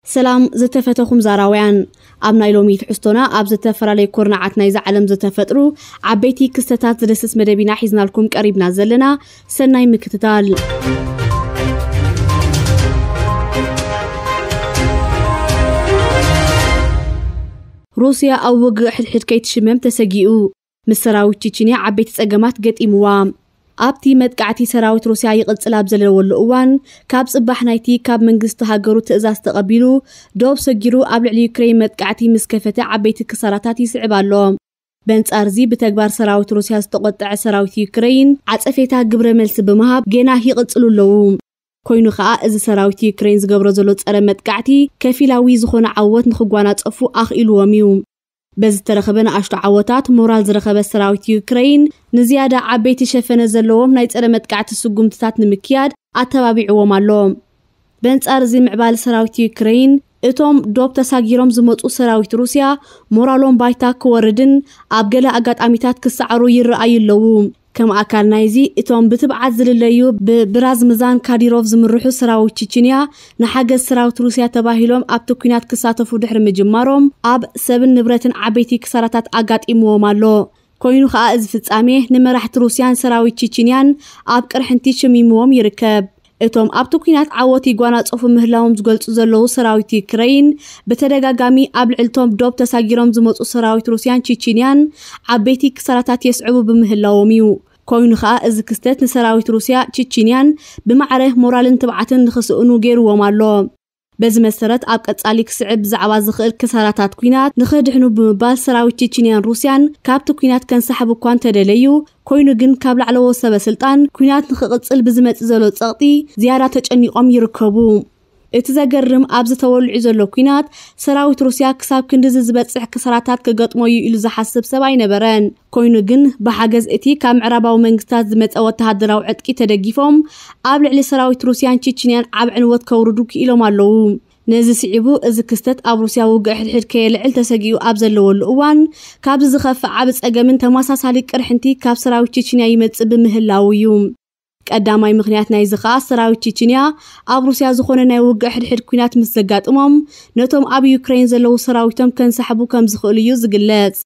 ሰላም ዝተፈተኹም ዛራውያን፣ ኣብ ናይ ሎሚ ትሕዝቶና ኣብ ዝተፈላለዩ ኩርናዓት ናይዛ ዓለም ዝተፈጥሩ ዓበይቲ ክስተታት ዝደስስ መደብ ኢና ሒዝናልኩም ቀሪብና ዘለና። ሰናይ ምክትታል። ሩስያ ኣብ ውግእ ሕድሕድ ከይትሽመም ተሰጊኡ። ምስ ሰራዊት ቺችንያ ዓበይቲ ጸገማት ገጢምዋ። ኣብቲ መጥቃዕቲ ሰራዊት ሩስያ ይቕጽል ኣብ ዘለወሉ እዋን፣ ካብ ጽባሕ ናይቲ ካብ መንግስቲ ሃገሩ ትእዛዝ ተቐቢሉ ዶብ ሰጊሩ ኣብ ልዕሊ ዩክሬን መጥቃዕቲ ምስ ከፈተ ዓበይቲ ክሳራታት ይስዕብ ኣሎ። በንጻር እዚ ብተግባር ሰራዊት ሩስያ ዝተቖጠዐ ሰራዊት ዩክሬን ዓጸፌታ ግብረ መልሲ ብምሃብ ጌና ይቕጽሉ ኣለዉ። ኮይኑ ኸኣ እዚ ሰራዊት ዩክሬን ዝገብሮ ዘሎ ጸረ መጥቃዕቲ ከፊላዊ ዝኾነ ዓወት ንኽጓናጸፉ ኣኽኢልዎም እዩ። በዚ ዝተረኸበ ንኣሽቱ ዓወታት ሞራል ዝረኸበ ሰራዊት ዩክሬን ንዝያዳ ዓበይቲ ሸፈነ ዘለዎም ናይ ጸረ መጥቃዕቲ ስጉምትታት ንምክያድ ኣተባቢዕዎም ኣሎ። በንጻር እዚ ምዕባል ሰራዊት ዩክሬን እቶም ዶብ ተሳጊሮም ዝመጹ ሰራዊት ሩስያ ሞራሎም ባይታ ክወርድን ኣብ ገለ ኣጋጣሚታት ክሰዓሩ ይረኣዩ ኣለዉ። ከም ኣካል ናይዚ እቶም ብትብዓት ዝልለዩ ብብራዝምዛን ካዲሮቭ ዝምርሑ ሰራዊት ቺችንያ ንሓገዝ ሰራዊት ሩስያ ተባሂሎም ኣብቲ ኲናት ክሳተፉ ድሕሪ ምጅማሮም ኣብ ሰብን ንብረትን ዓበይቲ ክሳራታት ኣጋጢምዎም ኣሎ። ኮይኑ ኸኣ እዚ ፍጻሜ ንመራሕቲ ሩስያን ሰራዊት ቺችንያን ኣብ ቅርሕንቲ ሽሚምዎም ይርከብ። እቶም ኣብቲ ኲናት ዓወት ይጓናጸፉ ምህላዎም ዝገልጹ ዘለዉ ሰራዊት ዩክረይን ብተደጋጋሚ ኣብ ልዕልቶም ዶብ ተሳጊሮም ዝመጹ ሰራዊት ሩስያን ቺችንያን ዓበይቲ ክሳራታት የስዕቡ ብምህላዎም እዩ። ኮይኑ ኸኣ እዚ ክስተት ንሰራዊት ሩስያ ቺችንያን ብማዕረ ሞራልን ትብዓትን ንኽስእኑ ገይርዎም ኣሎ። በዚ መሰረት ኣብ ቀጻሊ ክስዕብ ብዛዕባ ዝኽእል ክሳራታት ኲናት ንኽድሕኑ ብምባል ሰራዊት ቺችንያን ሩስያን ካብቲ ኲናት ከንሳሕቡ እኳ እንተደለዩ፣ ኮይኑ ግን ካብ ላዕለዎት ሰበ ስልጣን ኲናት ንኽቕጽል ብዝመጽእ ዘሎ ጸቕጢ ዝያዳ ተጨኒቖም ይርከቡ። እቲ ዘገርም ኣብዚ ተወሊዑ ዘሎ ኲናት ሰራዊት ሩስያ ክሳብ ክንድዚ ዝበጽሕ ክሳራታት ክገጥሞ እዩ ኢሉ ዝሓስብ ሰብ ኣይነበረን። ኮይኑ ግን ብሓገዝ እቲ ካብ ምዕራባዊ መንግስታት ዝመጸ ወተሃደራዊ ዕጥቂ ተደጊፎም ኣብ ልዕሊ ሰራዊት ሩስያን ቺችንያን ዓብ ዕንወት ከውርዱ ክኢሎም ኣለዉ። ነዚ ስዒቡ እዚ ክስተት ኣብ ሩስያ ውግእ ሕድሕድ ከየልዕል ተሰጊኡ ኣብ ዘለወሉ እዋን ካብዚ ዝኸፍእ ዓብ ጸገምን ተመሳሳሊ ቅርሕንቲ ካብ ሰራዊት ቺችንያ ይመጽእ ብምህላዉ እዩ። ቀዳማይ ምኽንያት ናይዚ ኸኣ ሰራዊት ቺችንያ ኣብ ሩስያ ዝኾነ ናይ ውግእ ሕድሕድ ኲናት ምስ ዘጋጥሞም ነቶም ኣብ ዩክሬን ዘለዉ ሰራዊቶም ከንሳሕቡ ከም ዝኽእሉ እዩ ዝግለጽ።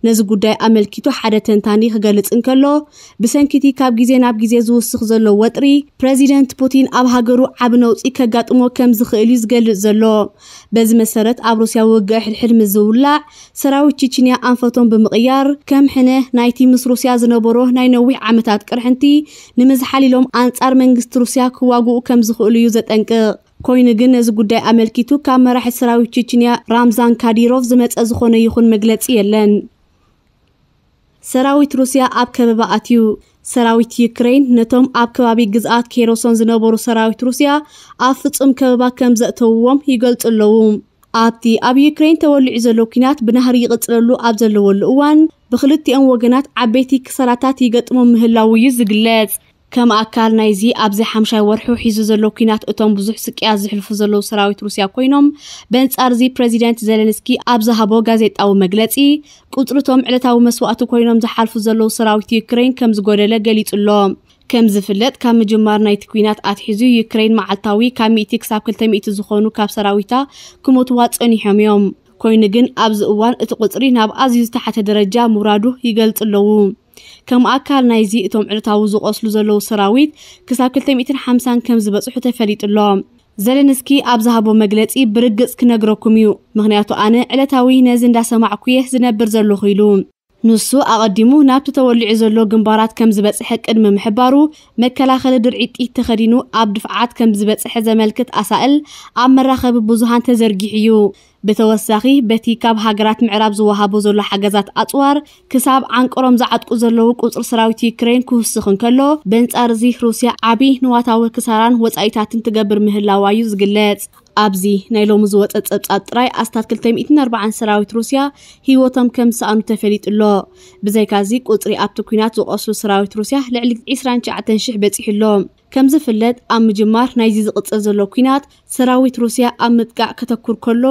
ነዚ ጉዳይ ኣመልኪቱ ሓደ ተንታኒ ክገልጽ እንከሎ፣ ብሰንኪቲ ካብ ግዜ ናብ ግዜ ዝውስኽ ዘሎ ወጥሪ ፕረዚደንት ፑቲን ኣብ ሃገሩ ዓቢ ነውጺ ከጋጥሞ ከም ዝኽእል እዩ ዝገልጽ ዘሎ። በዚ መሰረት ኣብ ሩስያ ውግእ ሕድሕድ ምስ ዝውላዕ ሰራዊት ቺችንያ ኣንፈቶም ብምቕያር ከም ሕነ ናይቲ ምስ ሩስያ ዝነበሮ ናይ ነዊሕ ዓመታት ቅርሕንቲ ንምዝሓል ኢሎም ኣንጻር መንግስቲ ሩስያ ክዋግኡ ከም ዝኽእሉ እዩ ዘጠንቅቕ። ኮይኑ ግን ነዚ ጉዳይ ኣመልኪቱ ካብ መራሒ ሰራዊት ቺችንያ ራምዛን ካዲሮቭ ዝመጸ ዝኾነ ይኹን መግለጺ የለን። ሰራዊት ሩስያ ኣብ ከበባ ኣትዩ። ሰራዊት ዩክሬን ነቶም ኣብ ከባቢ ግዝኣት ኬሮሶን ዝነበሩ ሰራዊት ሩስያ ኣብ ፍጹም ከበባ ከም ዘእተውዎም ይገልጹ ኣለዉ። ኣብቲ ኣብ ዩክሬን ተወሊዑ ዘሎ ኲናት ብናህሪ ይቕጽለሉ ኣብ ዘለወሉ እዋን ብክልቲኦም ወገናት ዓበይቲ ክሳራታት ይገጥሞም ምህላዉ እዩ ዝግለጽ። ከም ኣካል ናይዚ ኣብዚ ሓምሻይ ወርሑ ሒዙ ዘሎ ኲናት እቶም ብዙሕ ስቅያት ዝሕልፉ ዘለዉ ሰራዊት ሩስያ ኮይኖም፣ በንጻር እዚ ፕረዚደንት ዘለንስኪ ኣብ ዝሃቦ ጋዜጣዊ መግለጺ ቁጽሪ እቶም ዕለታዊ መስዋእቲ ኮይኖም ዝሓልፉ ዘለዉ ሰራዊት ዩክሬን ከም ዝጎደለ ገሊጹ ኣሎ። ከም ዝፍለጥ ካብ ምጅማር ናይቲ ኲናት ኣትሒዙ ዩክሬን መዓልታዊ ካብ ሚእቲ ክሳብ ክልተ ሚእቲ ዝኾኑ ካብ ሰራዊታ ክሞትዋ ጸኒሖም እዮም። ኮይኑ ግን ኣብዚ እዋን እቲ ቁጽሪ ናብ ኣዝዩ ዝተሓተ ደረጃ ምውራዱ ይገልጹ ኣለዉ። ከም ኣካል ናይዚ እቶም ዕለታዊ ዝቆስሉ ዘለዉ ሰራዊት ክሳብ ክልተ ሚእትን ሓምሳን ከም ዝበጽሑ ተፈሊጡ ኣሎ። ዘለንስኪ ኣብ ዝሃቦ መግለጺ ብርግጽ ክነግረኩም እዩ፣ ምኽንያቱ ኣነ ዕለታዊ ነዚ እንዳሰማዕኩ እየ ዝነብር ዘለኹ ኢሉ። ንሱ ኣቐዲሙ ናብቲ ተወሊዑ ዘሎ ግንባራት ከም ዝበጽሐ ቅድሚ ምሕባሩ መከላኸሊ ድርዒት ጥይት ተኸዲኑ ኣብ ድፍዓት ከም ዝበጽሐ ዘመልክት ኣሳእል ኣብ መራኸቢ ብዙሃን ተዘርጊሑ እዩ። ብተወሳኺ በቲ ካብ ሃገራት ምዕራብ ዝወሃቦ ዘሎ ሓገዛት ኣጽዋር ክሳብ ዓንቀሮም ዝዓጥቁ ዘለዉ ቁጽሪ ሰራዊት ዩክሬን ክውስኽ እንከሎ፣ በንጻር እዚ ሩስያ ዓቢ ንዋታዊ ክሳራን ወጻኢታትን ትገብር ምህላዋ እዩ ዝግለጽ። ኣብዚ ናይ ሎሚ ዝወጸ ጸብጻብ ጥራይ ኣስታት ክልተ ሚእትን ኣርባዓን ሰራዊት ሩስያ ህይወቶም ከም ዝሰኣኑ ተፈሊጡ ኣሎ። ብዘይካዚ ቁጽሪ ኣብቲ ኲናት ዝቆስሉ ሰራዊት ሩስያ ልዕሊ ዕስራን ትሽዓተን ሽሕ በጺሑ ኣሎ። ከም ዝፍለጥ ኣብ ምጅማር ናይዚ ዝቕጽል ዘሎ ኲናት ሰራዊት ሩስያ ኣብ ምጥቃዕ ከተኩር ከሎ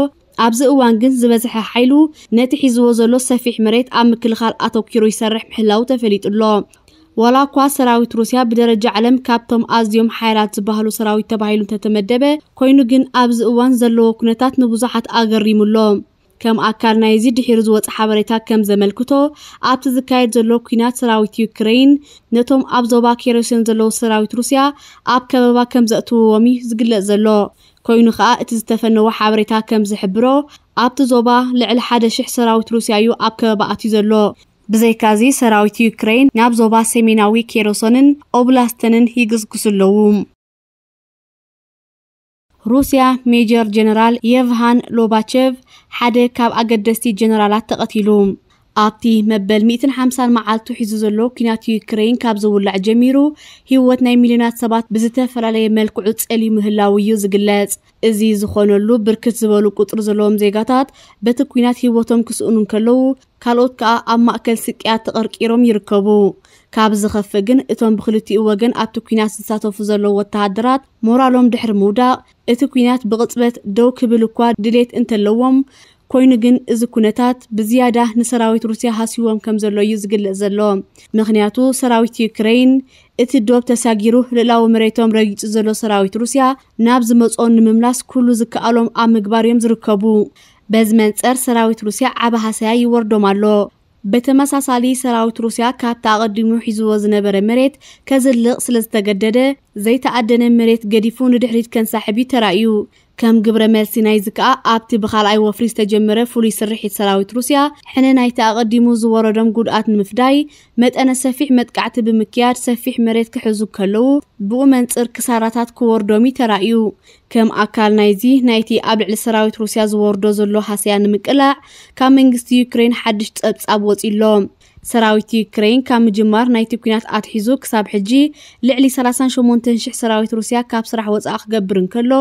ኣብዚ እዋን ግን ዝበዝሐ ሓይሉ ነቲ ሒዝዎ ዘሎ ሰፊሕ መሬት ኣብ ምክልኻል ኣተኪሩ ይሰርሕ ምህላው ተፈሊጡ ኣሎ። ዋላ እኳ ሰራዊት ሩስያ ብደረጃ ዓለም ካብቶም ኣዝዮም ሓያላት ዝበሃሉ ሰራዊት ተባሂሉ እንተተመደበ፣ ኮይኑ ግን ኣብዚ እዋን ዘለዎ ኩነታት ንብዙሓት ኣገሪሙ ኣሎ። ከም ኣካል ናይዚ ድሒሩ ዝወፀ ሓበሬታ ከም ዘመልክቶ፣ ኣብቲ ዝካየድ ዘሎ ኲናት ሰራዊት ዩክሬን ነቶም ኣብ ዞባ ኬሮሲን ዘለዉ ሰራዊት ሩስያ ኣብ ከበባ ከም ዘእትውዎም እዩ ዝግለጽ ዘሎ። ኮይኑ ከኣ እቲ ዝተፈነወ ሓበሬታ ከም ዝሕብሮ፣ ኣብቲ ዞባ ልዕሊ ሓደ ሽሕ ሰራዊት ሩስያ እዩ ኣብ ከበባ ኣትዩ ዘሎ። ብዘይካዚ ሰራዊት ዩክሬን ናብ ዞባ ሰሜናዊ ኬሮሶንን ኦብላስተንን ይግስግሱ ኣለዉ። ሩስያ ሜጀር ጀነራል የቭሃን ሎባቸቭ ሓደ ካብ ኣገደስቲ ጀነራላት ተቐቲሉ። ኣብቲ መበል ሚእትን ሓምሳን መዓልቱ ሒዙ ዘሎ ኲናት ዩክሬን ካብ ዝውላዕ ጀሚሩ፣ ህይወት ናይ ሚልዮናት ሰባት ብዝተፈላለየ መልክዑ ጸልዩ ምህላው እዩ ዝግለጽ። እዚ ዝኾነሉ፣ ብርክት ዝበሉ ቁጽሪ ዘለዎም ዜጋታት በቲ ኲናት ህይወቶም ክስእኑ እንከለዉ፣ ካልኦት ከኣ ኣብ ማእከል ስቅያት ተቐርቂሮም ይርከቡ። ካብ ዝኸፍእ ግን፣ እቶም ብክልቲኡ ወገን ኣብቲ ኲናት ዝሳተፉ ዘለዉ ወተሃደራት ሞራሎም ድሕሪ ምውዳቕ፣ እቲ ኲናት ብቕጽበት ደው ክብል እኳ ድሌት እንተለዎም፣ ኮይኑ ግን እዚ ኩነታት ብዝያዳ ንሰራዊት ሩስያ ሃስይዎም ከም ዘሎ እዩ ዝግለጽ ዘሎ። ምኽንያቱ ሰራዊት ዩክሬን እቲ ዶብ ተሳጊሩ ልእላዊ መሬቶም ረጊጹ ዘሎ ሰራዊት ሩስያ ናብ ዝመጾ ንምምላስ ኩሉ ዝከኣሎም ኣብ ምግባር እዮም ዝርከቡ። በዚ መንጸር ሰራዊት ሩስያ ዓቢ ሃሰያ ይወርዶም ኣሎ። በተመሳሳሊ ሰራዊት ሩስያ ካብቲ ኣቐዲሙ ሒዝዎ ዝነበረ መሬት ከዝልቕ ስለ ዝተገደደ፣ ዘይተኣደነ መሬት ገዲፉ ንድሕሪት ከንሳሕብ እዩ ተራእዩ። ከም ግብረ መልሲ ናይዚ ከኣ ኣብቲ ብኻልኣይ ወፍሪ ዝተጀመረ ፍሉይ ስርሒት ሰራዊት ሩስያ ሕነ ናይቲ ኣቐዲሙ ዝወረዶም ጉድኣት ንምፍዳይ መጠነ ሰፊሕ መጥቃዕቲ ብምክያድ ሰፊሕ መሬት ክሕዙ ከለዉ ብኡ መንጽር ክሳራታት ክወርዶም እዩ ተራእዩ። ከም ኣካል ናይዚ ናይቲ ኣብ ልዕሊ ሰራዊት ሩስያ ዝወርዶ ዘሎ ሃስያ ንምቅላዕ ካብ መንግስቲ ዩክሬን ሓድሽ ጸብጻብ ወጺ ኣሎ። ሰራዊት ዩክሬን ካብ ምጅማር ናይቲ ኲናት ኣትሒዙ ክሳብ ሕጂ ልዕሊ ሰላሳን ሸሞንተን ሽሕ ሰራዊት ሩስያ ካብ ስራሕ ወጻእ ክገብር እንከሎ፣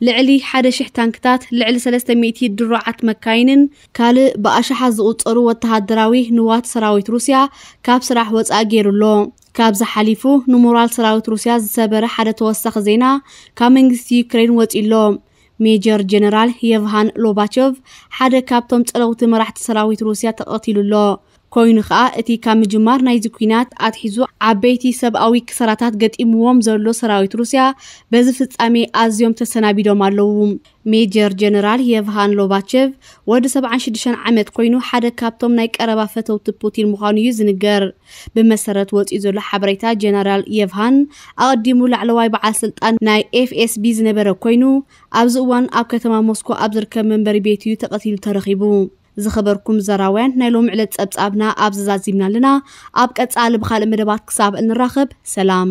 ልዕሊ ሓደ ሽሕ ታንክታት፣ ልዕሊ ሰለስተ ሚእቲ ድሩዓት መካይንን ካልእ ብኣሽሓት ዝቑጸሩ ወተሃደራዊ ንዋት ሰራዊት ሩስያ ካብ ስራሕ ወጻእ ገይሩ ኣሎ። ካብዚ ሓሊፉ ንሞራል ሰራዊት ሩስያ ዝሰበረ ሓደ ተወሳኺ ዜና ካብ መንግስቲ ዩክሬን ወጺኡ ኣሎ። ሜጀር ጀነራል የቭሃን ሎባቸቭ ሓደ ካብቶም ጸለውቲ መራሕቲ ሰራዊት ሩስያ ተቐቲሉ ኣሎ። ኮይኑ ኸኣ እቲ ካብ ምጅማር ናይዚ ኲናት ኣትሒዙ ዓበይቲ ሰብኣዊ ክሳራታት ገጢምዎም ዘሎ ሰራዊት ሩስያ በዚ ፍጻሜ ኣዝዮም ተሰናቢዶም ኣለዉ። ሜጀር ጀነራል የቭሃን ሎባቸቭ ወዲ ሰብዓን ሽዱሽተን ዓመት ኮይኑ ሓደ ካብቶም ናይ ቀረባ ፈተውቲ ፑቲን ምዃኑ እዩ ዝንገር። ብመሰረት ወጺኡ ዘሎ ሓበሬታ ጀነራል የቭሃን ኣቐዲሙ ላዕለዋይ በዓል ስልጣን ናይ ኤፍኤስቢ ዝነበረ ኮይኑ ኣብዚ እዋን ኣብ ከተማ ሞስኮ ኣብ ዝርከብ መንበሪ ቤት እዩ ተቐቲሉ ተረኺቡ። ዝኸበርኩም ዘራውያን ናይ ሎም ዕለት ጸብጻብና ኣብ ዘዛዚምና ኣለና። ኣብ ቀጻሊ ብኻልእ መደባት ክሳብ እንራኸብ ሰላም።